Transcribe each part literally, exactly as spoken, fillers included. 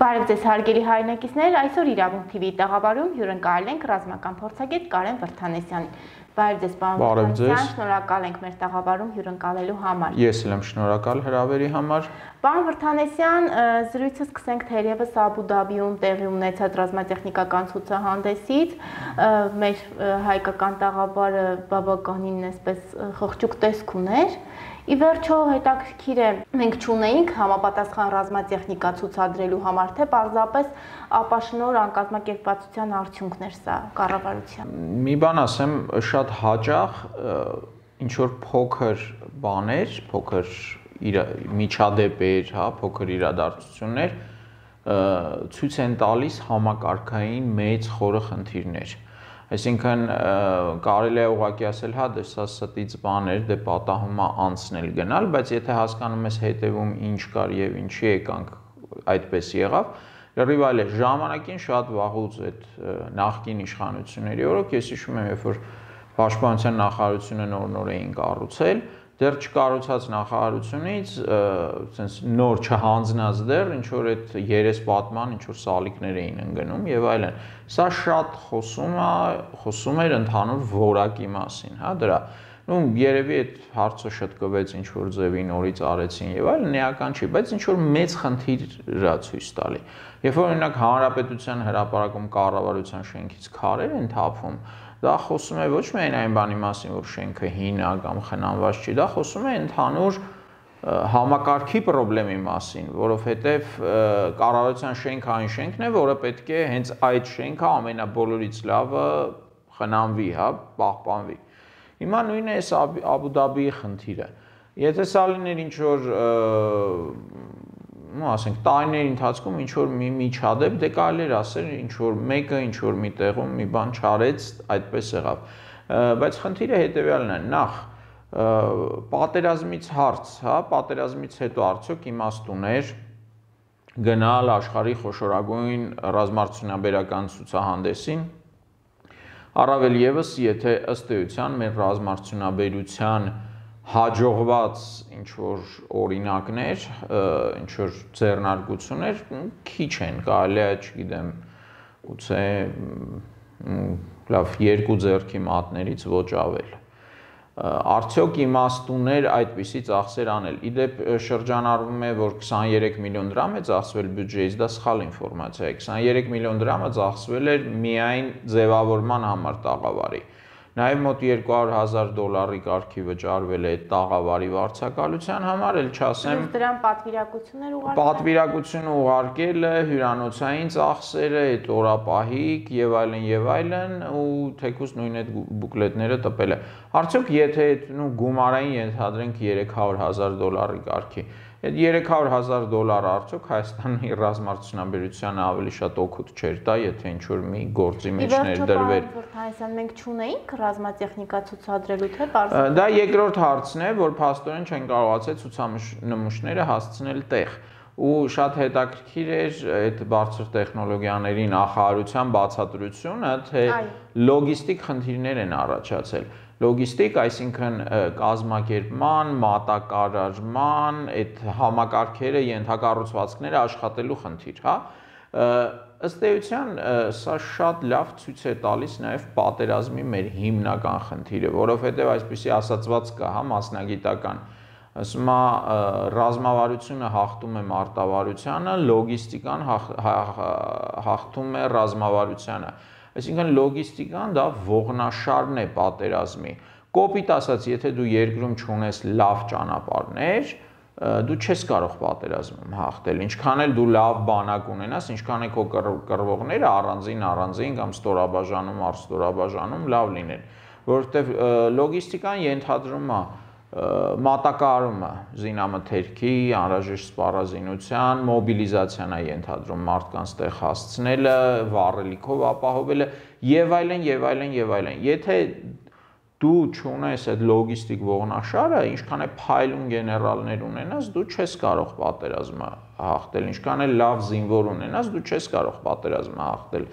Բարև ձեզ հարգելի հայրենակիցներ, այսօր Իրավունք թի վիի տաղավարում հյուրընկալել ենք ռազմական փորձագետ Կարեն Վրդանեսյանին։ Բարև ձեզ, պարոն Վրդանեսյան, շնորհակալ ենք մեր տաղավարում հյուրընկալելու համար։ Ես էլ եմ շնորհակալ հրավերի համար։ Պարոն Վրդանեսյան, զրույցը սկսենք թերևս Աբու Դաբիում տեղի ունեցած ռազմատեխնիկական ցուցահանդեսից, մեր հայկական տաղավարը բավականին այսպես խղճուկ տեսք ուներ։ Ի վերջո հետաքրքիր է, մենք չունեինք համապատասխան ռազմատեխնիկա ցուցադրելու համար, թե պարզապես ապաշնոր անկազմակերպվածության արդյունքն էր սա կառավարության։ Մի բան ասեմ, շատ հաճախ ինչ որ փոքր բաներ, փոքր միջադեպեր, հա, փոքր իրադարձություններ ցույց են տալիս համակարգային մեծ խորը խնդիրներ։ Այսինքն կարելի է ուղղակի ասել, հա, դե սա ստից բան էր, դե պատահում է անցնել գնալ, բայց եթե հասկանում ես հետևում ինչ կար եւ ինչի եկանք այդպես եղավ, լրիվ այլ է, ժամանակին շատ վաղուց այդ նախկին իշխանությունների օրոք, ես հիշում եմ, երբ որ Պաշտպանության նախարարությունը նոր-նոր էին կառուցել, դեռ չկառուցած նախարարությունից, sense նոր չհանձնած դեռ ինչ որ այդ երես պատման ինչ որ սալիկներ էին ընկնում եւ այլն։ Սա շատ խոսում է, խոսում էր ընդհանուր որակի մասին, հա, դրա։ Ну, երևի այդ հարցը շտկվեց ինչ որ ձևի նորից արեցին եւ այլն, էական չի, բայց ինչ որ մեծ խնդիր է ցույց տալի։ Երբ որ օրինակ Հանրապետության հրապարակում կառավարության շենքից քարեր են թափում, դա խոսում է ոչ միայն այն բանի մասին, որ շենքը հին է կամ խնամված չի, դա խոսում է ընդհանուր համակարգի խնդրի մասին, որովհետև կառավարության շենքը այն շենքն է, որը պետք է հենց այդ շենքը ամենաբոլորից լավը խնամվի, հա, պահպանվի։ Հիմա նույնն է Աբու Դաբիի խնդիրը։ Եթե սա լիներ ինչ որ, ну, ասենք, տարիների ընթացքում ինչ որ մի միջադեպ, դե կարելի էր ասել ինչ որ մեկը ինչ որ մի տեղում մի բան չարեց, այդպես եղավ։ Բայց խնդիրը հետևյալն է, նախ պատերազմից հարց, հա, պատերազմից հետո արդյոք իմաստ ուներ գնալ աշխարհի խոշորագույն ռազմարտությունաբերական ցուցահանդեսին, առավել եւս, եթե ըստ էության մեր ռազմարտությունաբերության հաջողված ինչ որ օրինակներ, ինչ որ ձեռնարկություններ քիչ են, կարելի է, չգիտեմ, գուցե լավ երկու ձեռքի մատներից ոչ ավել։ Արդյոք իմաստ ուներ այդպիսի ծախսեր անել։ Իդեպ շրջանառվում է, որ քսաներեք միլիոն դրամ է ծախսվել բյուջեից, դա սխալ ինֆորմացիա է։ քսաներեք միլիոն դրամը ծախսվել էր միայն ձևավորման համար տաղավարի։ Նաև մոտ երկու հարյուր հազար դոլարի կարգի վճարվել է տաղավարի վարձակալության համար, էլ չասեմ դրան պատվիրակություններ ուղարկել։ Պատվիրակությունը ուղարկել է, հյուրանոցային ծախսերը, այդ օրապահիկ եւ այլն եւ այլն, ու թեկուզ նույն այդ բուկլետները տպել է։ Արդյոք եթե նու գումարային ենթադրենք երեք հարյուր հազար դոլարի կարգի, այդ երեք հարյուր հազար դոլարը արդյոք Հայաստանի ռազմարտությունաբերությանը ավելի շատ օգուտ չէր տա, եթե ինչ որ մի գործի մեջ ներդրվեր։ Վրդանեսյան, մենք չունեինք ռազմատեխնիկա ցուցադրելու, թե պարզ։ Դա երկրորդ հարցն է, որ փաստորեն չեն կարողացել ցուցանմուշները հասցնել տեղ։ Ու շատ հետաքրքիր էր այդ բարձր տեխնոլոգիաների նախարարության բացատրությունը, թե լոգիստիկ խնդիրներ են առաջացել։ Լոգիստիկ, այսինքն կազմակերպման, մատակարարման, այդ համակարգերը, ենթակառուցվածքները աշխատելու խնդիր, հա։ Ըստ էության սա շատ լավ ցույց է տալիս նաև պատերազմի մեր հիմնական խնդիրը, որովհետև այսպիսի ասացված կա, հա, մասնագիտական, ասում է ռազմավարությունը հաղթում է մարտավարությանը, լոգիստիկան հաղթում է ռազմավարությանը։ Այսինքն լոգիստիկան դա ողնաշարն է պատերազմի։ Կոպիտ ասած, եթե դու երկրում չունես լավ ճանապարհներ, դու չես կարող պատերազմում հաղթել։ Ինչքան էլ դու լավ բանակ ունենաս, ինչքան է քո կռվողները առանձին առանձին կամ ստորաբաժանում, առստորաբաժանում լավ լինեն, որովհետև լոգիստիկան ենթադրում է մատակարարումը զինամթերքի, անհրաժեշտ սպառազինության, մոբիլիզացիան է ենթադրում մարդկանց տեղ հասցնելը, վառելիքով ապահովելը եւ այլն եւ այլն եւ այլն։ Եթե դու չունես այդ լոգիստիկ ողնաշարը, ինչքան է փայլուն գեներալներ ունենաս, դու չես կարող պատերազմը հաղթել, ինչքան է լավ զինվոր ունենաս, դու չես կարող պատերազմը հաղթել։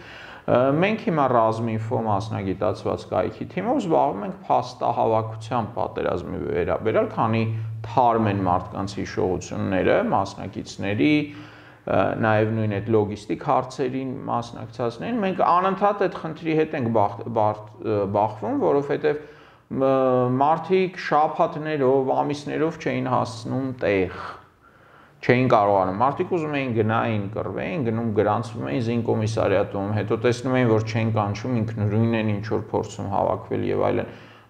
Մենք հիմա ռազմինֆո մասնագիտացված կայքի թիմով զբաղվում ենք փաստահավաքությամբ պատերազմի վերաբերյալ, քանի թարմ են մարդկանց հիշողությունները, մասնակիցների, նաև նույն այդ լոգիստիկ հարցերին մասնակցածներին, մենք անընդհատ այդ խնդրի հետ ենք բախվում, որովհետև մարդիկ շաբաթներով, ամիսներով չէին հասցնում տեղ, չէին կարողանում։ Մարդիկ ուզում էին գնային, կռվեին, գնում գրանցվում էին զինկոմիսարիատում, հետո տեսնում էին, որ չեն կանչում, ինքնուրույն են ինչ որ փորձում հավաքվել եւ այլն։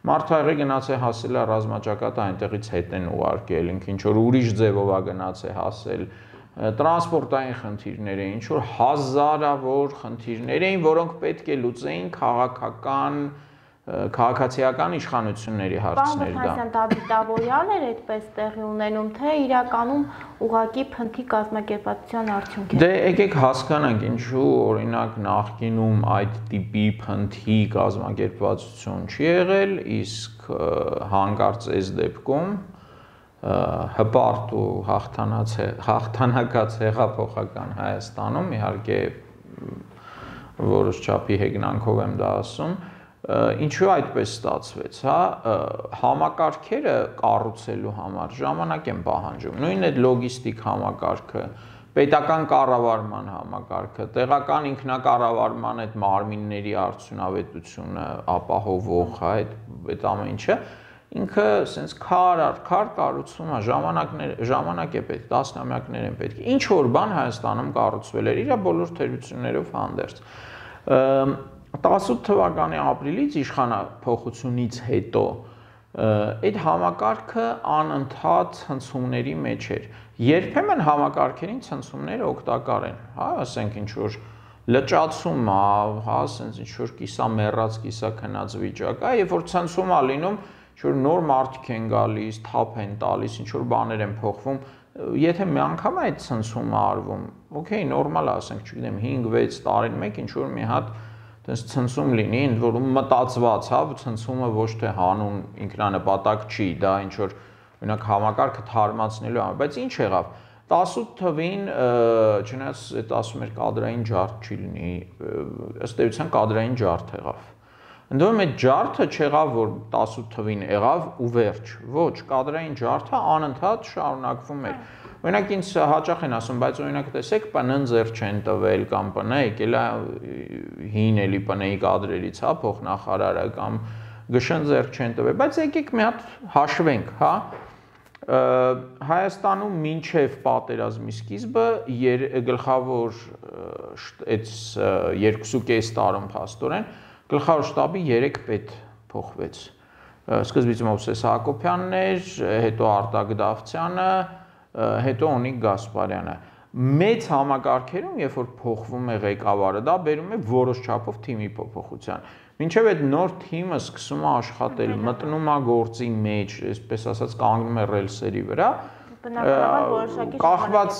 Մարդը գնաց է հասել է ռազմաճակատը, այնտեղից հետ են ուղարկել, ինքը ինչ որ ուրիշ ձևով է գնաց է հասել, տրանսպորտային խնդիրներ էին, ինչ որ հազարավոր խնդիրներ էին, որոնք պետք է լուծեին քաղաքական, քաղաքացիական իշխանությունների հարցներ դա։ Պարոն դավիթավորյալ էր այդպես տեղի ունենում, թե իրականում ուղղակի փնթի կազմակերպվածության արդյունք է։ Դե եկեք հասկանանք, ինչու օրինակ նախկինում այդ տիպի փնթի կազմակերպվածություն չի եղել, իսկ հանկարծ այս դեպքում հպարտ ու հաղթանակած հեղափոխական Հայաստանում, իհարկե որոշ չափի հեգնանքով եմ դա ասում, ինչու այդպես ստացվեց, հա, համակարգերը կառուցելու համար ժամանակ են պահանջում, նույն այդ լոգիստիկ համակարգը, պետական կառավարման համակարգը, տեղական ինքնակառավարման այդ մարմինների արդյունավետությունը ապահովող, հա, այդ ամեն ինչը, ինքը սենց քար առ քար կառուցվում է, ժամանակ է պետք, տասնամյակներ են պետք, ինչ որ բան Հայաստանում կառուցվել էր, իր բոլոր թերություններով հանդերձ։ տասնութ թվականի ապրիլից իշխանափոխությունից հետո այդ համակարգը անընդհատ ցնցումների մեջ էր։ Երբեմն համակարգերին ցնցումները օգտակար են, հա, ասենք ինչ որ լճացում է, հա, ասենք ինչ որ կիսա մեռած, կիսա քնած վիճակ է, երբ որ ցնցում է լինում, ինչ որ նոր մարդիկ են գալիս, թափ են տալիս, ինչ որ բաներ են փոխվում, եթե մի անգամ այդ ցնցումը արվում, օքեյ, նորմալ է, ասենք, չգիտեմ, հինգ-վեց տարին մեկ ինչ որ մի հատ Տես ցնցում լինի, ընդ որում մտածված, հա, ցնցումը ոչ թե հանուն ինքնանպատակ չի, դա ինչ որ օրինակ համակարգը թարմացնելու համար, բայց ինչ եղավ։ տասնութ թվին, չնայած այդ ասում էր կադրային ջարդ չի լինի, ըստ էության կադրային ջարդ եղավ։ Ընդ որում այդ ջարդը չեղավ, որ տասնութ թվին եղավ ու վերջ, ոչ, կադրային ջարդը անընդհատ շարունակվում էր։ Օրինակ ինձ հաճախ են ասում, բայց օրինակ տեսեք, ՊՆ-ն ձեռք չեն տվել կամ ՊՆ-ը եկել է հին էլի ՊՆ-ի կադրերից, հա, փոխնախարարը կամ ԳՇ-ն ձեռք չեն տվել, բայց եկեք մի հատ հաշվենք, հա։ Հայաստանում մինչև պատերազմի սկիզբը գլխավոր այդ երկուսուկես տարում փաստորեն գլխավոր շտաբի երեք պետ փոխվեց։ Սկզբից Մովսես Հակոբյանն էր, հետո Արտակ Դավթյանը, հետո Օնիկ Գասպարյանը։ Մեծ համակարգերում, երբ որ փոխվում է ղեկավարը, դա բերում է որոշ չափով թիմի փոփոխության։ Մինչև այդ նոր թիմը սկսում է աշխատել, մտնում է գործի մեջ, այսպես ասած կանգնում է ռելսերի վրա, կախված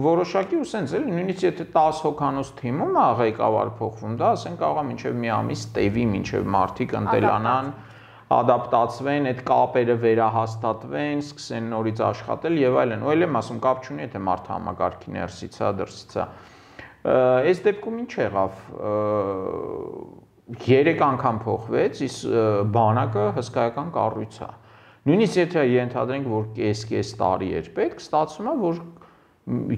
որոշակի ու սենց էլի, նույնիսկ եթե տասը հոգանոց թիմում է ղեկավար փոխվում, դա ասենք կարող է մինչև մի ամիս տևի, մինչև մարդիկ ընտելանան, ադապտացվեն, այդ կապերը վերահաստատվեն, սկսեն նորից աշխատել եւ այլն։ Ու էլ եմ ասում, կապ չունի, եթե մարդը համակարգի ներսից է, դրսից է։ Այս դեպքում ինչ եղավ։ Երեք անգամ փոխվեց, իսկ բանակը հսկայական կառույց է։ Նույնիսկ եթե ենթադրենք, որ կես-կես տարի էր պետք, ստացվում է, որ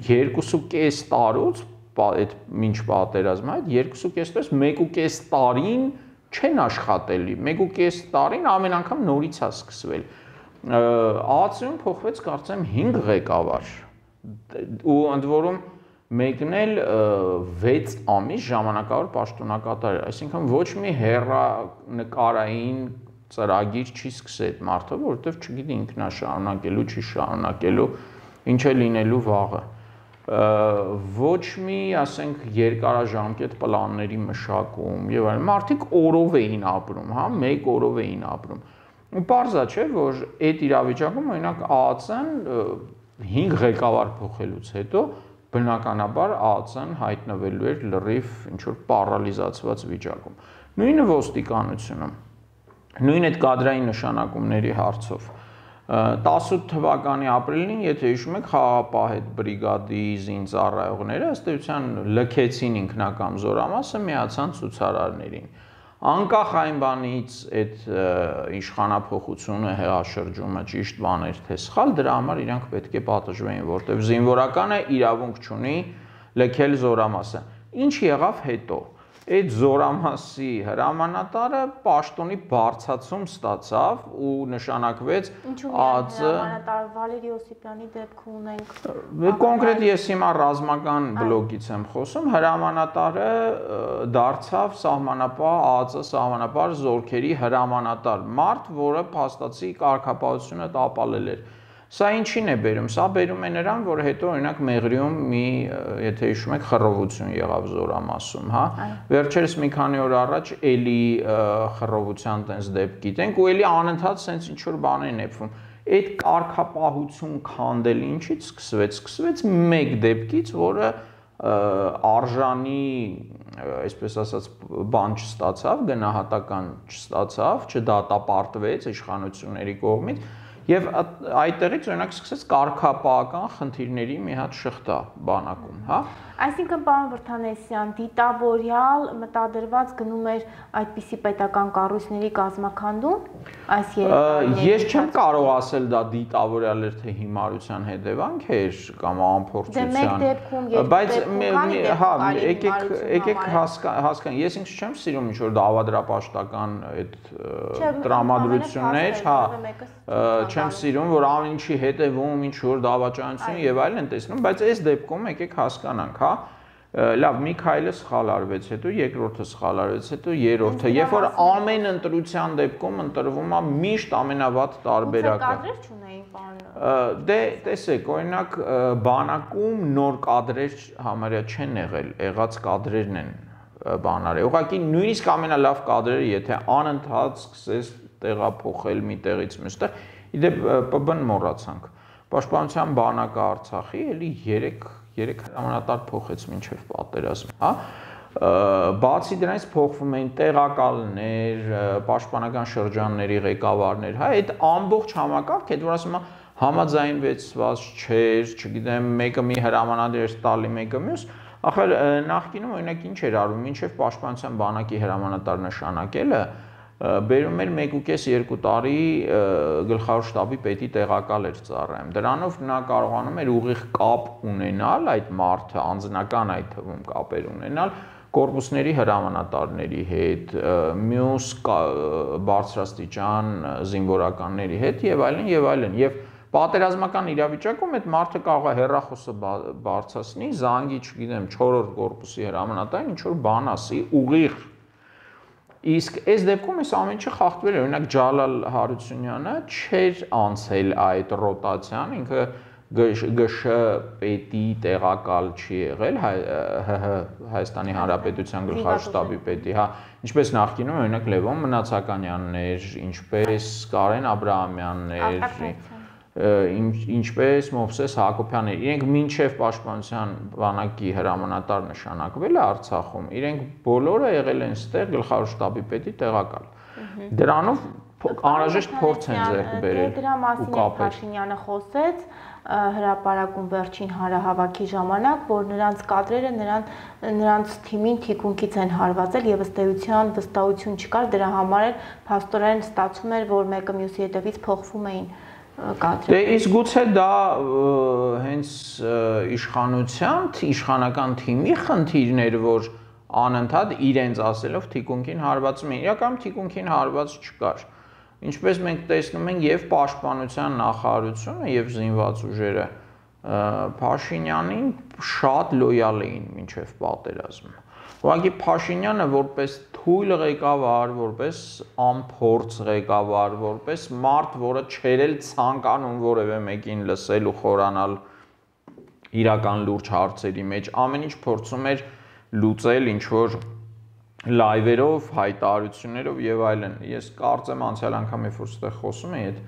երկուսուկես տարուց, այդ մինչ պատերազմը, այդ երկուսուկես տարուց մեկուկես տարին չեն աշխատելի, մեկուկես տարին ամեն անգամ նորից է սկսվել։ ԱԱՑ-ում փոխվեց կարծեմ հինգ ղեկավար, ու ընդ որում մեկն էլ վեց ամիս ժամանակավոր պաշտոնակատար էր, այսինքն ոչ մի հեռանկարային ծրագիր չի սկսել այդ մարդը, որովհետև չգիտի ինքն է շարունակելու, չի շարունակելու, ինչ է լինելու վաղը։ Ոչ մի, ասենք, երկարաժամկետ պլանների մշակում եւ այլն, մարդիկ օրով էին ապրում, հա, մեկ օրով էին ապրում։ Ու պարզա չէ, որ այդ իրավիճակում օրինակ ԱԱՑ-ն հինգ ղեկավար փոխելուց հետո բնականաբար ԱԱՑ-ն հայտնվելու էր լրիվ ինչ որ պարալիզացված վիճակում։ Նույնը ոստիկանությունում, նույն այդ կադրային նշանակումների հարցով։ տասնութ թվականի ապրիլին, եթե հիշում եք, խաղաղապահ այդ բրիգադի զինծառայողները ըստ էության լքեցին ինքնակամ զորամասը, միացան ցուցարարներին։ անկախ այն բանից այդ իշխանափոխությունը, հեղաշրջումը ճիշտ բաներ թե սխալ, դրա համար իրանք պետք է պատժվեին, որտեղ զինվորականը իրավունք չունի լքել զորամասը։ Ինչ եղավ հետո։ Այդ զորամասի հրամանատարը պաշտոնի բարձրացում ստացավ ու նշանակվեց ԱԾ հրամանատար Վալերի Օսիպյանի դեպքում ունենք կոնկրետ ես հիմա ռազմական բլոկից եմ խոսում, հրամանատարը դարձավ սահմանապահ ԱԾ սահմանապահ զորքերի հրամանատար մարդ, որը փաստացի կարգապահությունը տապալել էր։ Սա ինչին է բերում։ Սա բերում է նրան, որ հետո օրինակ Մեղրիում մի, եթե հիշում եք, խռովություն եղավ զորամասում, հա։ Վերջերս մի քանի օր առաջ էլի խռովության տենց դեպք գիտենք ու էլի անընդհատ սենց ինչ որ բաներ են նեփվում։ Այդ կարգապահություն քանդել ինչից սկսվեց։ Սկսվեց մեկ դեպքից, որը արժանի, այսպես ասած, բան չստացավ, գնահատական չստացավ, չդատապարտվեց իշխանությունների կողմից։ Եվ այդտեղից օրինակ սկսեց կարգապահական խնդիրների մի հատ շղթա բանակում, հա։ Այսինքն, պարոն Վրդանեսյան, դիտավորյալ մտադրված գնում էր այդպիսի պետական կառույցների կազմաքանդում այս երեք Ես չեմ կարող ասել դա դիտավորյալ էր թե հիմարության հետևանք էր կամ անփորձության։ Բայց հա, եկեք եկեք հասկանան, ես ինքս չեմ սիրում ինչ որ դավադրապաշտական այդ տրամադրություններ, հա, չեմ սիրում, որ ամեն ինչի հետևում ինչ որ դավաճանություն եւ այլն տեսնում, բայց այս դեպքում եկեք հասկանանք, հա, լավ, մի քայլը սխալ արվեց, հետո երկրորդը սխալ արվեց, հետո երրորդը, երբ որ ամեն ընտրության դեպքում ընտրվում է միշտ ամենավատ տարբերակը։ Կադրեր չունեին, պարոն։ Դե, տեսեք, օրինակ բանակում նոր կադրեր համարյա չեն եղել, եղած կադրերն են բան արել։ Ուղղակի նույնիսկ ամենալավ կադրերը, եթե անընդհատ սկսես տեղափոխել մի տեղից մյուստեղ, իդեպ ՊԲ-ն մոռացանք։ Պաշտպանության բանակը Արցախի էլի երեք հրամանատար փոխեց մինչև պատերազմ, հա։ Բացի դրանից փոխվում էին տեղակալներ, պաշտպանական շրջանների ղեկավարներ, հա, այդ ամբողջ համակարգ, այդ որ ասում եմ համաձայնվեցված չէր, չգիտեմ, մեկը մի հրամանատար էր տալի, մեկը մյուս, ախր նախկինում օրինակ ինչ էր արվում, մինչև պաշտպանության բանակի հրամանատար նշանակելը բերում էր մեկ ու կես երկու տարի գլխավոր շտաբի պետի տեղակալ էր ծառայում։ Դրանով նա կարողանում էր ուղիղ կապ ունենալ այդ մարդը, անձնական այդ թվում կապեր ունենալ կորպուսների հրամանատարների հետ, մյուս բարձրաստիճան զինվորականների հետ եւ այլն եւ այլն։ Եվ պատերազմական իրավիճակում այդ մարդը կարող է հեռախոսը բարձրացնի, զանգի, չգիտեմ, չորրորդ կորպուսի հրամանատարին ինչ որ բան ասի, ուղիղ Իսկ այս դեպքում այս ամեն ինչը խախտվել է, օրինակ Ջալալ Հարությունյանը չէր անցել այդ ռոտացիան, ինքը ԳՇ պետի տեղակալ չի եղել, Հայաստանի Հանրապետության գլխավոր շտաբի պետի, հա, ինչպես նախկինում օրինակ Լևոն Մնացականյաններ, ինչպես Կարեն Աբրահամյաններ, ինչպես Մովսես Հակոբյաններ, իրենք մինչև պաշտպանության բանակի հրամանատար նշանակվել է Արցախում, իրենք բոլորը եղել են ստեղ գլխավոր շտաբի պետի տեղակալ։ Դրանով անհրաժեշտ փորձ են ձեռք բերել։ Դրա մասին է Փաշինյանը խոսեց հրապարակում վերջին հանրահավաքի ժամանակ, որ նրանց կադրերը նրան նրանց թիմին թիկունքից են հարվածել եւ ըստ էության վստահություն չկար, դրա համար էլ փաստորեն ստացվում էր, որ մեկը մյուսի հետևից փոխվում էին Դե իսկ գուցե դա հենց իշխանության, իշխանական թիմի խնդիրներ, որ անընդհատ իրենց ասելով թիկունքին հարվածում են, իրականում թիկունքին հարված չկար։ Ինչպես մենք տեսնում ենք եւ պաշտպանության նախարարությունը եւ զինված ուժերը Փաշինյանին շատ լոյալ էին մինչև պատերազմ։ Ուղղակի Փաշինյանը որպես թույլ ղեկավար, որպես անփորձ ղեկավար, որպես մարդ, որը չէր էլ ցանկանում որևէ մեկին լսել ու խորանալ իրական լուրջ հարցերի մեջ, ամեն ինչ փորձում էր լուծել ինչ որ լայվերով, հայտարարություններով եւ այլն։ Ես կարծեմ անցյալ անգամ երբ որ ստեղ խոսում էի այդ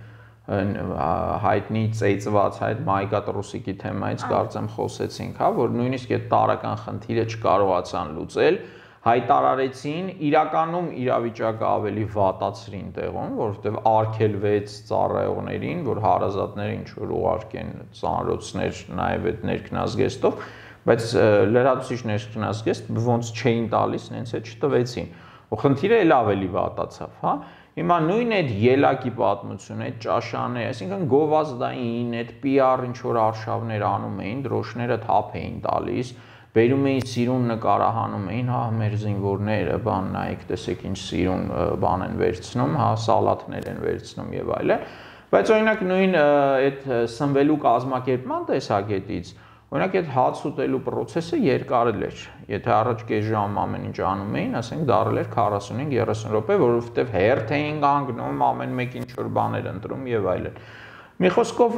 հայտնի ծեծված այդ Մայկա Տրուսիկի թեմայից կարծեմ խոսեցինք, հա, որ նույնիսկ այդ տարական խնդիրը չկարողացան լուծել, հայտարարեցին, իրականում իրավիճակը ավելի վատացրին տեղում, որովհետև արգելվեց ծառայողներին, որ հարազատները ինչ որ ուղարկեն ծանրոցներ նաև այդ ներքնազգեստով, բայց լրատվիչ ներքնազգեստ ոնց չէին տալիս, նենց էլ չտվեցին։ ու խնդիրը էլ ավելի վատացավ, հա։ Հիմա նույն այդ ելակի պատմությունը, այդ ճաշաները, այսինքն գովազդային, այդ պի ար ինչ որ արշավներ անում էին, դրոշները թափ էին տալիս, բերում էին սիրուն նկարահանում էին, հա, մեր զինվորները, բան նայեք, տեսեք ինչ սիրուն բան են վերցնում, հա, սալաթներ են վերցնում եւ այլն։ Բայց օրինակ նույն այդ սնվելու կազմակերպման տեսակետից, օրինակ այդ հաց ուտելու process-ը երկարել էր։ Եթե առաջ կես ժամ ամեն ինչ անում էին, ասենք դարել էր քառասունհինգ երեսուն րոպե, որովհետեւ հերթ էին կանգնում, ամեն մեկ ինչ որ բաներ ընտրում եւ այլն։ Մի խոսքով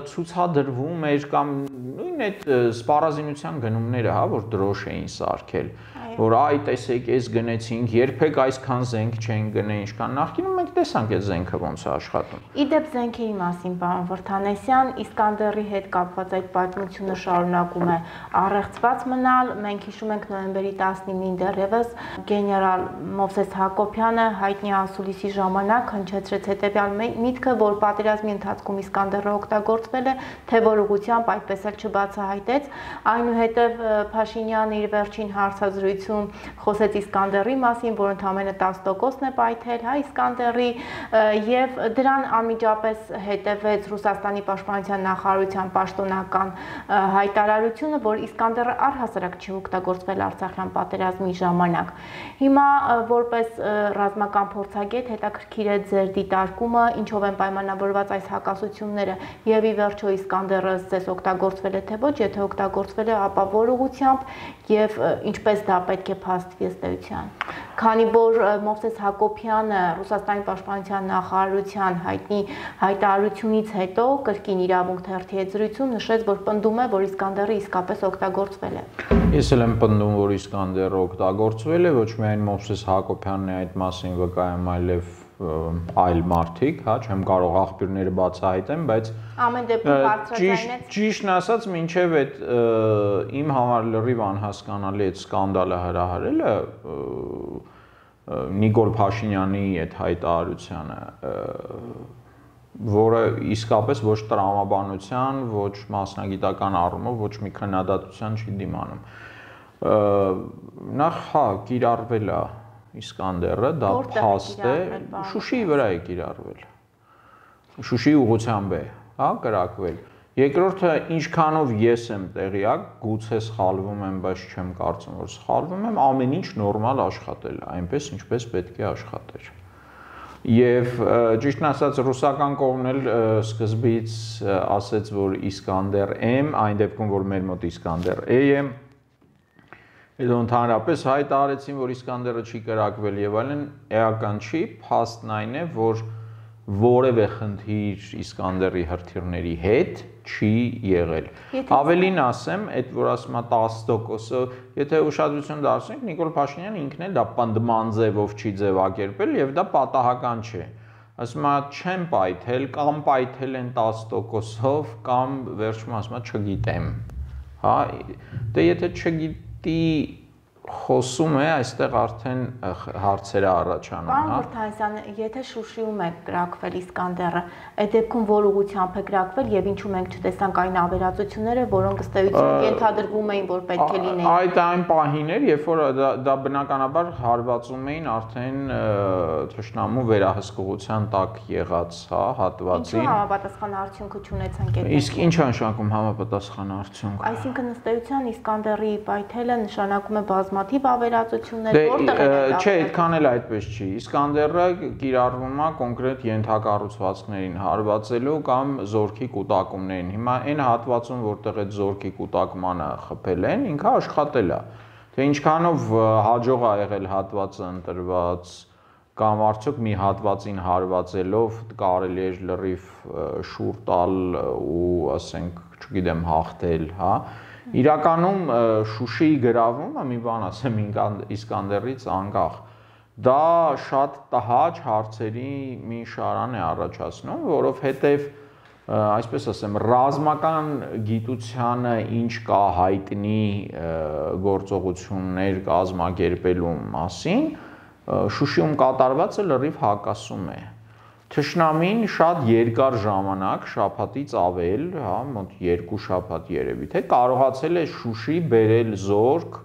ցուցադրվում էր կամ նույն այդ սպառազինության գնումները, հա, որ դրոշ էին սարքել, որ այ տեսեք, այս գնեցինք, երբեք այսքան զենք չեն գնել, ինչքան նախկինում մենք տեսանք այդ զենքը ոնց է աշխատում։ Իդեպ զենքերի մասին, պարոն Վրդանեսյան, Իսկանդերի հետ կապված այդ պատմությունը շարունակում է առեղծված մնալ։ Մենք հիշում ենք նոյեմբերի տասնինին դեռևս գեներալ Մովսես Հակոբյանը հայտնի ասուլիսի ժամանակ հնչեցրեց հետևյալ միտքը, որ պատերազմի ընթացքում Իսկանդերը օգտագործվել է, թե որ ուղղությամբ այդպես էլ չբացահայտեց։ Այնուհետև Փաշինյանը իր վերջին հարցազրույցում խոսեց Իսկանդերի մասին, որ ընդամենը տասը տոկոսն է պայթել, հա, Իսկանդերի, եւ դրան անմիջապես հետևեց Ռուսաստանի պաշտպանության նախարարության պաշտոնական հայտարարությունը, որ Իսկանդերը առհասարակ չի օգտագործվել Արցախյան պատերազմի ժամանակ։ Հիմա որպես ռազմական փորձագետ հետաքրքիր է ձեր դիտարկումը, ինչով են պայմանավորված այս հակասությունները եւ ի վերջո Իսկանդերը ձեզ օգտագործվել է թե ոչ, եթե օգտագործվել է, ապա որ ուղղությամբ եւ ինչպես դա պետք է փաստվի ըստ էության։ Քանի որ Մովսես Հակոբյանը Ռուսաստանի պաշտպանության նախարարության հայտնի հայտարարությունից հետո կրկին իրավունք թերթի հետ զրույցում նշեց, որ պնդում է, որ Իսկանդերը իսկապես օգտագործվել է։ Ես էլ եմ պնդում, որ Իսկանդերը օգտագործվել է, ոչ միայն Մովսես Հակոբյանն է այդ մասին վկայում, այլև այլ մարդիկ, հա, չեմ կարող աղբյուրները բացահայտեմ, բայց ամեն դեպքում բարձրացնեց։ Ճիշտն ասած, մինչև այդ իմ համար լրիվ անհասկանալի այդ սկանդալը հրահարելը Նիկոլ Փաշինյանի այդ հայտարարությանը, որը իսկապես ոչ տրամաբանության, ոչ մասնագիտական առումով, ոչ մի քննադատության չի դիմանում։ Նախ, հա, կիրառվել է Իսկանդերը, դա փաստ է, Շուշիի վրա է կիրառվել։ Շուշիի ուղղությամբ է, հա, կրակվել։ Երկրորդը, ինչքանով ես եմ տեղյակ, գուցե սխալվում եմ, բայց չեմ կարծում, որ սխալվում եմ, ամեն ինչ նորմալ աշխատել է, այնպես ինչպես պետք է աշխատեր։ Եվ ճիշտն ասած, ռուսական կողմն էլ սկզբից ասեց, որ Իսկանդեր M, այն դեպքում, որ մեր մոտ Իսկանդեր A է, հետո ընդհանրապես հայտարարեցին, որ Իսկանդերը չի կրակվել եւ այլն, էական չի, փաստն այն է, որ որևէ խնդիր Իսկանդերի հրթիռների հետ չի եղել։ Ավելին ասեմ, այդ որ ասում է տասը տոկոսը, եթե ուշադրություն դարձնենք, Նիկոլ Փաշինյանը ինքն էլ դա պնդման ձևով չի ձևակերպել եւ դա պատահական չէ։ Ասում է չեմ պայթել կամ պայթել են տասը տոկոսով կամ վերջում ասում է չգիտեմ։ Հա, դե եթե չգիտի խոսում է, այստեղ արդեն հարցերը առաջանում, հա։ Պարոն Վրդանեսյան, եթե Շուշիում է կրակվել Իսկանդերը, այդ դեպքում որ ուղղությամբ է կրակվել եւ ինչու մենք չտեսանք այն ավերածությունները, որոնք ըստ էության ենթադրվում էին, որ պետք է լինեին։ Այդ այն պահին էր, երբ որ դա բնականաբար հարվածում էին արդեն թշնամու վերահսկողության տակ եղած, հա, հատվածին։ Ինչու համապատասխան արդյունքը չունեցանք այդ։ Իսկ ինչ է նշանակում համապատասխան արդյունք։ Այսինքն ըստ էության Իսկանդերի պայթելը նշանակում է բազմաթիվ ավերածություններ, որտեղ է։ Չէ, այդքան էլ այդպես չի։ Իսկանդերը կիրառվում է կոնկրետ ենթակառուցվածքներին հարվածելու կամ զորքի կուտակումներին։ Հիմա այն հատվածում, որտեղ այդ զորքի կուտակմանը խփել են, ինքը աշխատել է։ Թե ինչքանով հաջող ա եղել հատվածը ընտրված կամ արդյոք մի հատվածին հարվածելով կարելի է լրիվ շուռ տալ ու ասենք, չգիտեմ, հաղթել, հա։ Իրականում Շուշիի գրավումը, մի բան ասեմ, Իսկանդերից անկախ, դա շատ տհաճ հարցերի մի շարան է առաջացնում, որովհետև, այսպես ասեմ, ռազմական գիտությանը ինչ կա հայտնի գործողություններ կազմակերպելու մասին, Շուշիում կատարվածը լրիվ հակասում է։ Թշնամին շատ երկար ժամանակ, շաբաթից ավել, հա, մոտ երկու շաբաթ երևի թե կարողացել է Շուշի բերել զորք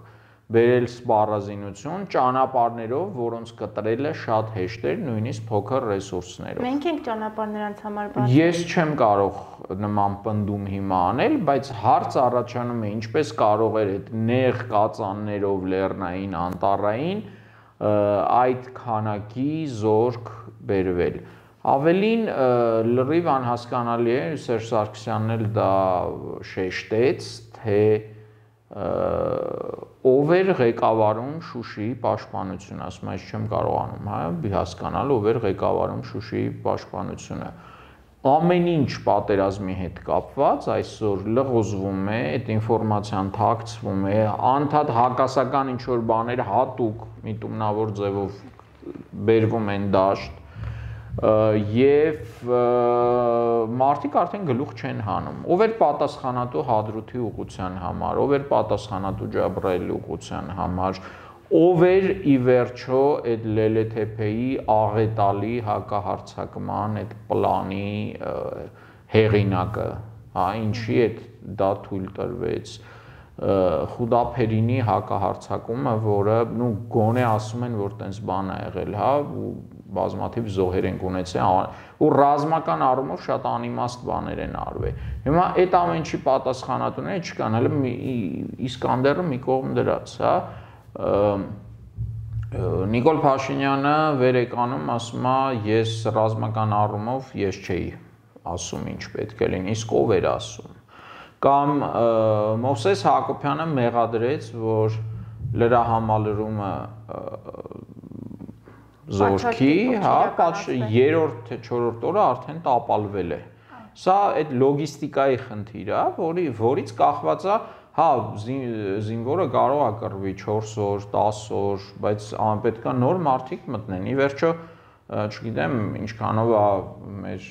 բերել սպառազինություն ճանապարհներով, որոնց կտրելը շատ հեշտ էր, նույնիսկ փոքր ռեսուրսներով։ Մենք ենք ճանապարհ նրանց համար բացել։ Ես չեմ կարող նման պնդում հիմա անել, բայց հարց առաջանում է ինչպես կարող էր այդ նեղ կածաններով լեռնային, անտառային այդ քանակի զորք բերվել։ Ավելին լրիվ անհասկանալի է, Սերժ Սարգսյանն էլ դա շեշտեց, թե ով էր ղեկավարում Շուշիի պաշտպանությունը, ասում եմ, ես չեմ կարողանում, հա, հասկանալ ով էր ղեկավարում Շուշիի պաշտպանությունը։ Ամեն ինչ պատերազմի հետ կապված այսօր լղոզվում է, այդ ինֆորմացիան թաքցվում է, անդադ հակասական ինչ որ բաներ հատուկ միտումնավոր ձևով բերվում են դաշտ եւ մարդիկ արդեն գլուխ չեն հանում։ Ով էր պատասխանատու Հադրութի ուղղության համար, ով էր պատասխանատու Ջաբրայելի ուղղության համար, ով էր ի վերջո այդ Լելեթեփեի աղետալի հակահարձակման այդ պլանի հեղինակը, հա, ինչի այդ դա թույլ տրվեց։ Խուդափերինի հակահարձակումը, որը նու գոնե ասում են, որ տենց բան է եղել, հա, բազմաթիվ զոհեր են ունեցել ու ռազմական առումով շատ անիմաստ բաներ են արվել։ Հիմա այդ ամեն ինչի պատասխանատուները չկան, հələ Իսկանդերը մի կողմ դրած, հա։ Նիկոլ Փաշինյանը վեր եկանում ասում է, ես ռազմական առումով ես չէի ասում ինչ պետք է լինի, իսկ ով էր ասում։ Կամ Մովսես Հակոբյանը մեղադրեց, որ լրահամալրումը զորքի, հա, երրորդ թե չորրորդ օրը արդեն տապալվել է։ Սա այդ լոգիստիկայի խնդիր է, որի որից կախված է, հա, զինվորը կարող է կռվի չորս օր, տասը օր, բայց պետք է նոր մարդիկ մտնեն։ Ի վերջո, չգիտեմ, ինչքանով է մեր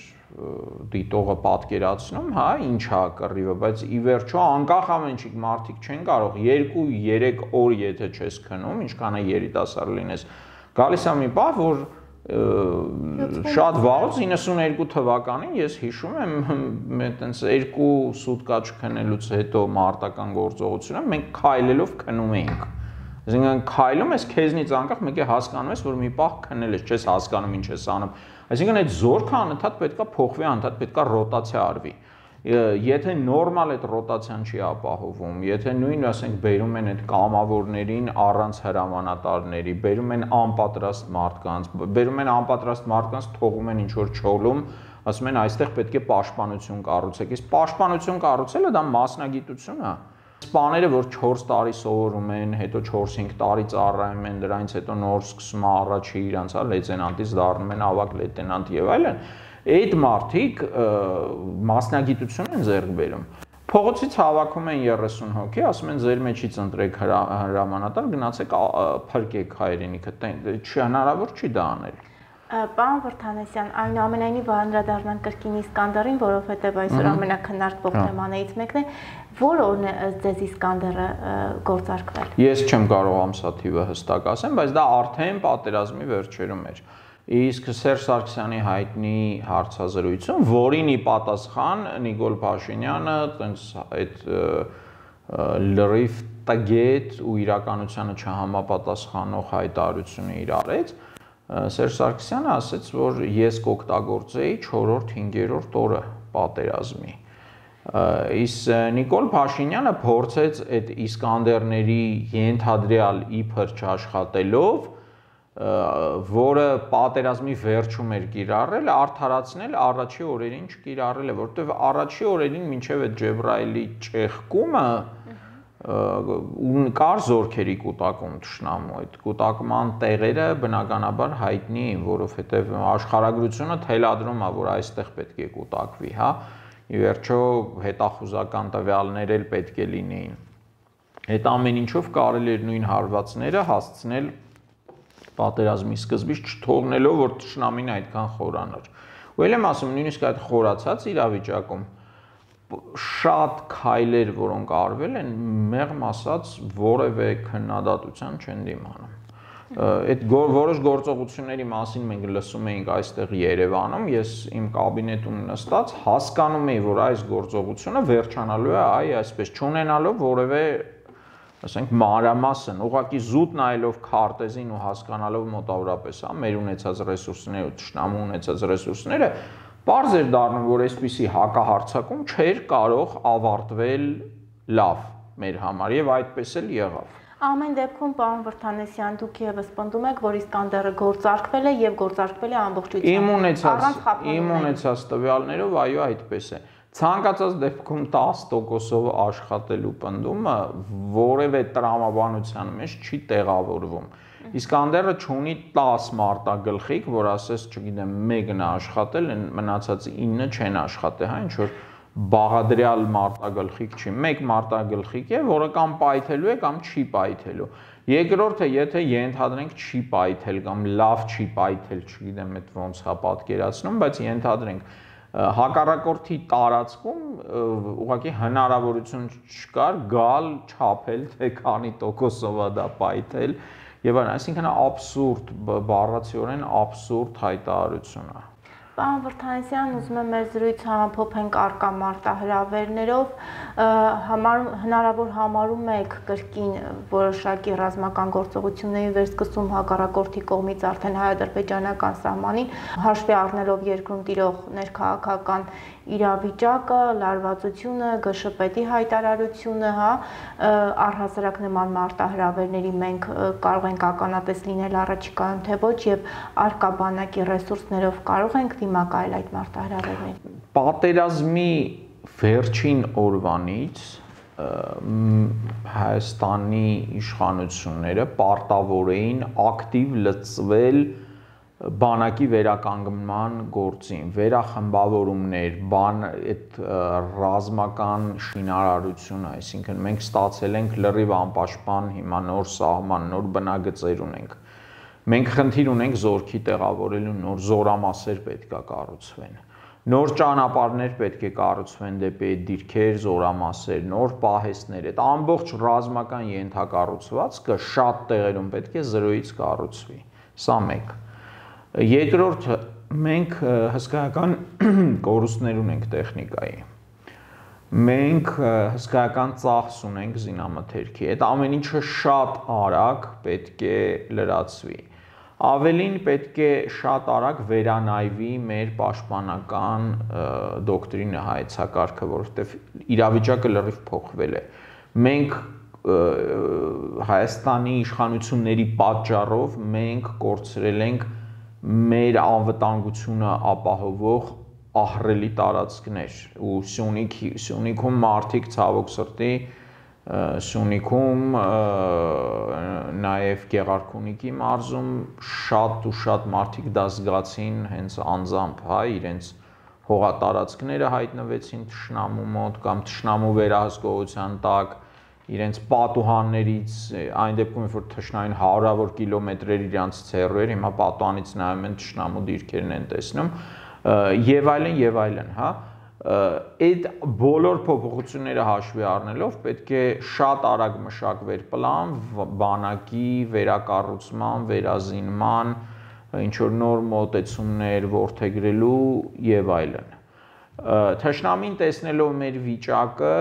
դիտողը պատկերացնում, հա, ինչ է կռիվը, բայց ի վերջո անկախ ամեն ինչի մարդիկ չեն կարող երկու երեք օր եթե չես քնում, ինչքան է երիտասարդ լինես, գալիս է մի պահ, որ շատ վաղուց իննսունհինգ թվականին ես հիշում եմ այտենց երկու սուտկա չքնելուց հետո մարտական գործողությունը մենք քայլելով քնում էինք։ Այսինքն քայլում ես քեզնից անկախ մեկ է հասկանում ես, որ մի պահ քնել ես, չես հասկանում ինչ ես անում։ Այսինքն այդ զորքը անընդհատ պետքա փոխվի, անընդհատ պետքա ռոտացիա արվի։ Եթե նորմալ այդ ռոտացիան չի ապահովում, եթե նույն ասենք բերում են այդ կամավորներին առանց հրամանատարների, բերում են անպատրաստ մարդկանց, բերում են անպատրաստ մարդկանց, թողում են ինչ որ չոլում, ասում են այստեղ պետք է պաշտպանություն կառուցեք։ Իսկ պաշտպանություն կառուցելը դա մասնագիտություն է։ Սպաները, որ չորս տարի սովորում են, հետո չորս-հինգ տարի ծառայում են, դրանից հետո նոր սկսում է առաջի իրանց, հա, լեյտենանտից դառնում են ավագ լեյտենանտ եւ այլն, այդ մարդիկ մասնագիտություն են ձեռք բերում։ Փողոցից հավաքում են երեսուն հոգի, ասում են ձեր մեջից ընտրեք հրամանատար, գնացեք փրկեք հայրենիքը, հնարավոր չի դա անել։ Պարոն Վրդանեսյան, այնուամենայնիվ անդրադառնանք կրկին Իսկանդերին, որովհետև այսօր ամենաքննարկվող թեմաներից մեկն է, որ օրն է ձեզ Իսկանդերը գործարկվել։ Ես չեմ կարող ամսաթիվը հստակ ասեմ, բայց դա արդեն պատերազմի վերջերում էր։ Իսկ Սերժ Սարգսյանի հայտնի հարցազրույցում, որին ի պատասխան Նիկոլ Փաշինյանը տենց այդ լրիվ տգետ ու իրականությանը չհամապատասխանող հայտարարությունը իր արեց, Սերժ Սարգսյանը ասաց, որ ես կօգտագործեի չորրորդ, հինգերորդ օրը պատերազմի։ Իսկ Նիկոլ Փաշինյանը փորձեց այդ Իսկանդերների ենթադրյալ իբր չաշխատելով, որը պատերազմի վերջում էր կիրառել, արդարացնել առաջի օրերին չկիրառել է, որովհետև առաջի օրերին մինչև այդ Ջեբրայելի ճեղքումը կար զորքերի կուտակում թշնամու, այդ կուտակման տեղերը բնականաբար հայտնի են, որովհետև աշխարհագրությունը թելադրում է, որ այստեղ պետք է կուտակվի, հա, ի վերջո հետախուզական տվյալներ էլ պետք է լինեին։ Այդ ամեն ինչով կարելի էր նույն հարվածները հասցնել պատերազմի սկզբից չթողնելով, որ թշնամին այդքան խորանար։ Ու ել եմ ասում, նույնիսկ այդ խորացած իրավիճակում շատ քայլեր, որոնք արվել են, մեղմ ասած որևէ քննադատության չեն դիմանում։ Այդ որոշ գործողությունների մասին մենք լսում էինք այստեղ Երևանում, ես իմ կաբինետում նստած հասկանում էի, որ այս գործողությունը վերջանալու է այ այսպես, չունենալով որևէ ասենք մանրամասն, ուղղակի զուտ նայելով քարտեզին ու հասկանալով մոտավորապես, հա, մեր ունեցած ռեսուրսները ու թշնամու ունեցած ռեսուրսները, պարզ էր դառնում, որ այսպիսի հակահարձակում չէր կարող ավարտվել լավ մեր համար եւ այդպես էլ եղավ։ Ամեն դեպքում, պարոն Վրդանեսյան, դուք եւս պնդում եք, որ Իսկանդերը գործարկվել է եւ գործարկվել է ամբողջությամբ։ Իմ ունեցած, իմ ունեցած տվյալներով, այո, այդպես է։ Ցանկացած դեպքում տասը տոկոսով աշխատելու պնդումը որևէ տրամաբանության մեջ չի տեղավորվում։ Իսկանդերը չունի տասը մարտագլխիկ, որ ասես, չգիտեմ, մեկն է աշխատել, մնացած ինը չեն աշխատել, հա, ինչ որ բաղադրյալ մարտագլխիկ չի, մեկ մարտագլխիկ է, որը կամ պայթելու է, կամ չի պայթելու։ Երկրորդը, եթե ենթադրենք չի պայթել կամ լավ չի պայթել, չգիտեմ, այդ ոնց է պատկերացնում, բայց ենթադրենք հակառակորդի տարածքում ուղղակի հնարավորություն չկար գալ չափել, թե քանի տոկոսով է դա պայթել եւ այլն, այսինքն աբսուրդ, բառացիորեն աբսուրդ հայտարարություն է։ Պարոն Վրդանեսյան, ուզում եմ մեր զրույցը համփոփենք առկա մարտահրավերներով, հնարավոր համարում եք կրկին որոշակի ռազմական գործողությունների վերսկսում հակառակորդի կողմից արդեն հայ-ադրբեջանական սահմանին, հաշվի առնելով երկրում տիրող ներքաղաքական իրավիճակը, լարվածությունը, ԳՇՊ-ի հայտարարությունը, հա, առհասարակ նման մարտահրավերների մենք կարող ենք ականատես լինել առաջիկայում, թե ոչ, եւ առկա բանակի ռեսուրսներով կարող ենք դիմակայել այդ մարտահրավերներին։ Պատերազմի վերջին օրվանից Հայաստանի իշխանությունները պարտավոր էին ակտիվ լծվել բանակի վերականգնման գործին, վերախմբավորումներ, բան այդ ռազմական շինարարությունը, այսինքն մենք ստացել ենք լրիվ անպաշտպան հիմա նոր սահման, նոր բնագծեր ունենք։ Մենք խնդիր ունենք զորքի տեղավորելու, նոր զորամասեր պետք է կառուցվեն։ Նոր ճանապարհներ պետք է կառուցվեն դեպի այդ դիրքեր, զորամասեր, նոր պահեստներ, այդ ամբողջ ռազմական ենթակառուցվածքը շատ տեղերում պետք է զրոյից կառուցվի։ Սա մեկ։ Երկրորդը, մենք հսկայական կորուստներ ունենք տեխնիկայի։ Մենք հսկայական ծախս ունենք զինամթերքի։ Այդ ամեն ինչը շատ արագ պետք է լրացվի։ Ավելին պետք է շատ արագ վերանայվի մեր պաշտպանական դոկտրինը, հայեցակարգը, որովհետև իրավիճակը լրիվ փոխվել է։ Մենք Հայաստանի իշխանությունների պատճառով մենք կորցրել ենք մեր անվտանգությունը ապահովող ահռելի տարածքներ ու Սյունիքի, Սյունիքում մարդիկ ցավոք սրտի, Սյունիքում, նաև Գեղարքունիքի մարզում շատ ու շատ մարդիկ դա զգացին հենց անձամբ, հա, իրենց հողատարածքները հայտնվեցին թշնամու մոտ կամ թշնամու վերահսկողության տակ, իրենց պատուհաններից, այն դեպքում, որ թշնամին հարյուրավոր կիլոմետրեր իրանց ցեռու էր, հիմա պատուհանից նայում են թշնամու դիրքերն են տեսնում, եւ այլն, եւ այլն, հա, այդ բոլոր փոփոխությունները հաշվի առնելով պետք է շատ արագ մշակվեր պլան բանակի վերակառուցման, վերազինման, ինչ որ նոր մոտեցումներ որդեգրելու եւ այլն։ Թշնամին տեսնելով մեր վիճակը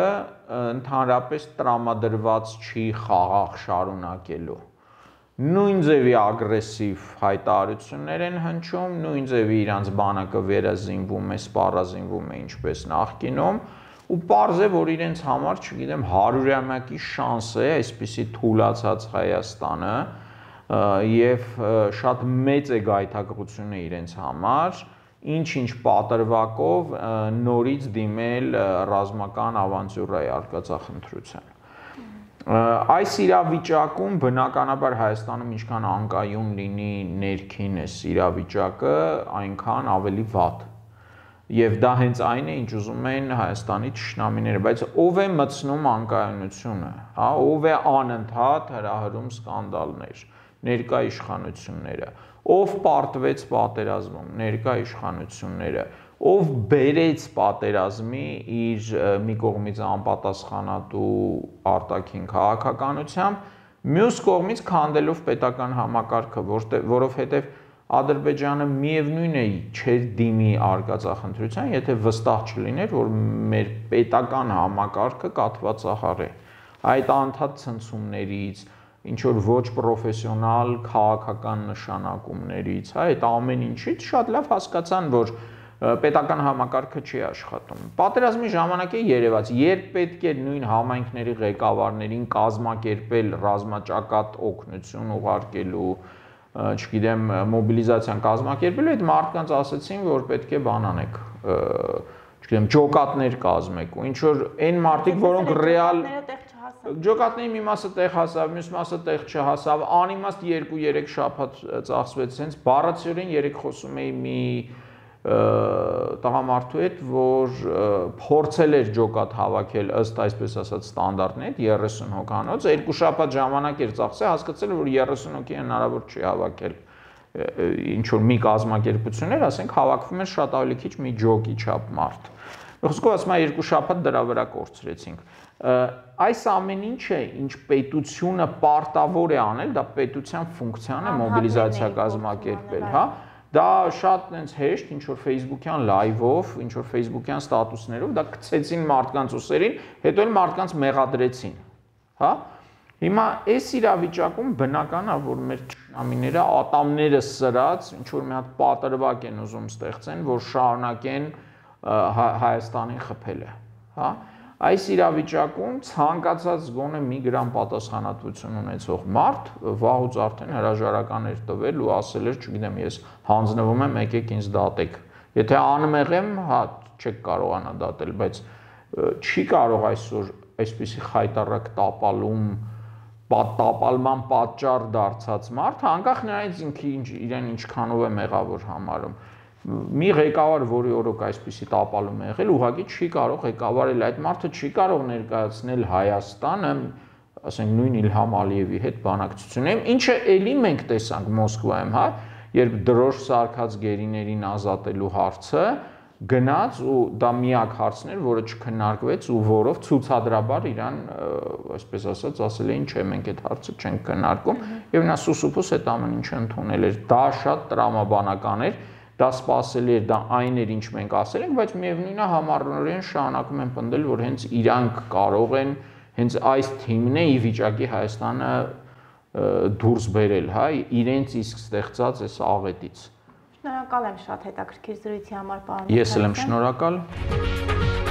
ընդհանրապես տրամադրված չի խաղաղ շարունակելու։ Նույն ձևի ագրեսիվ հայտարարություններ են հնչում, նույն ձևի իրանց բանակը վերազինվում է, սպառազինվում է ինչպես նախկինում, ու պարզ է, որ իրենց համար, չգիտեմ, հարյուրամյակի շանս է այսպիսի թուլացած Հայաստանը եւ շատ մեծ է գայթակղությունը իրենց համար, ինչ-ինչ պատրվակով նորից դիմել ռազմական ավանտյուրայի արկածախնդրության։ Այս իրավիճակում բնականաբար Հայաստանում ինչքան անկայուն լինի ներքինս իրավիճակը, այնքան ավելի վատ։ Եվ դա հենց այն է, ինչ ուզում են Հայաստանի թշնամիները, բայց ով է մտցնում անկայունությունը, հա, ով է անընդհատ հրահրում սկանդալներ, ներկա իշխանությունները, ով պարտվեց պատերազմում, ներկա իշխանությունները, ով բերեց պատերազմի իր մի կողմից անպատասխանատու արտաքին քաղաքականությամբ, մյուս կողմից քանդելով պետական համակարգը, որովհետև Ադրբեջանը միևնույն է չէր դիմի արկածախնդրության, եթե վստահ չլիներ, որ մեր պետական համակարգը կաթվածահար է։ այդ անդադ ցնցումներից, ինչ որ ոչ պրոֆեսիոնալ քաղաքական նշանակումներից, հա, այդ ամեն ինչից շատ լավ հասկացան, որ պետական համակարգը չի աշխատում։ Պատերազմի ժամանակ է երևաց, երբ պետք է նույն համայնքների ղեկավարներին կազմակերպել ռազմաճակատ օգնություն ուղարկելու, չգիտեմ, մոբիլիզացիան կազմակերպելու, այդ մարդկանց ասացին, որ պետք է բան անեք, չգիտեմ, ջոկատներ կազմեք, ու ինչ որ այն մարդիկ, որոնք ռեալ ջոկատների մի մասը տեղ հասավ, մյուս մասը տեղ չհասավ, անիմաստ երկու երեք շաբաթ ծախսվեց, հենց բառացիորեն երեք խոսում էի մի տղամարդու հետ, որ փորձել էր ջոկատ հավաքել ըստ այսպես ասած ստանդարտների, երեսուն հոգանոց, երկու շաբաթ ժամանակ էր ծախսել, հասկացել որ երեսուն հոգի հնարավոր չի հավաքել ինչ որ մի կազմակերպություններ, ասենք հավաքվում էր շատ ավելի քիչ մի ջոկի չափ մարդ։ Խոսքով ասում եմ, երկու շաբաթ դրա վրա կորցրեցինք։ Այս ամեն ինչը, ինչ պետությունը պարտավոր է անել, դա պետության ֆունկցիան է մոբիլիզացիա կազմակերպել, հա։ Դա շատ այնց հեշտ, ինչ որ Facebook-յան լայվով, ինչ որ Facebook-յան ստատուսներով, դա գցեցին մարդկանց ուսերին, հետո էլ մարդկանց մեղադրեցին, հա։ Հիմա այս իրավիճակում բնական է, որ մեր ճշնամիները ատամները սրած, ինչ որ մի հատ պատրվակ են ուզում ստեղծեն, որ շարունակեն Հայաստանին խփելը, հա։ Այս իրավիճակում ցանկացած գոնե մի գրամ պատասխանատվություն ունեցող մարդ վաղուց արդեն հրաժարական էր տվել ու ասել էր, չգիտեմ, ես հանձնվում եմ, եկեք ինձ դատեք։ Եթե անմեղ եմ, հա, չեք կարողանա դատել, բայց չի կարող այսօր այսպիսի խայտառակ տապալում, տապալման պատճառ դարձած մարդ, անկախ նրանից ինքը իրեն ինչքանով է մեղավոր համարում։ Մի ղեկավար, որի օրոք այսպիսի տապալում է եղել, ուղղակի չի կարող ղեկավարել, այդ մարդը չի կարող ներկայացնել Հայաստանը, ասենք նույն Իլհամ Ալիևի հետ բանակցություններում, ինչը էլի մենք տեսանք Մոսկվայում, հա, երբ դրոշ սարքած գերիներին ազատելու հարցը գնաց ու դա միակ հարցն էր, որը չքննարկվեց ու որով ցուցադրաբար իրան, այսպես ասած, ասել էին, չէ, մենք այդ հարցը չենք քննարկում, եւ նա սուսուփուս այդ ամեն ինչը ընդունել էր։ Դա շատ տրամաբանական էր։ Դա սпасելի էր, դա այն էր, ինչ մենք ասել ենք, բայց միևնույն է համառորեն շարունակում են պնդել, որ հենց իրանք կարող են, հենց այս թիմն է ի վիճակի Հայաստանը դուրս բերել, հա, իրենց իսկ ստեղծած այս աղետից։ Շնորհակալ եմ շատ հետաքրքիր զրույցի համար, պարոն։ Ես էլ եմ շնորհակալ։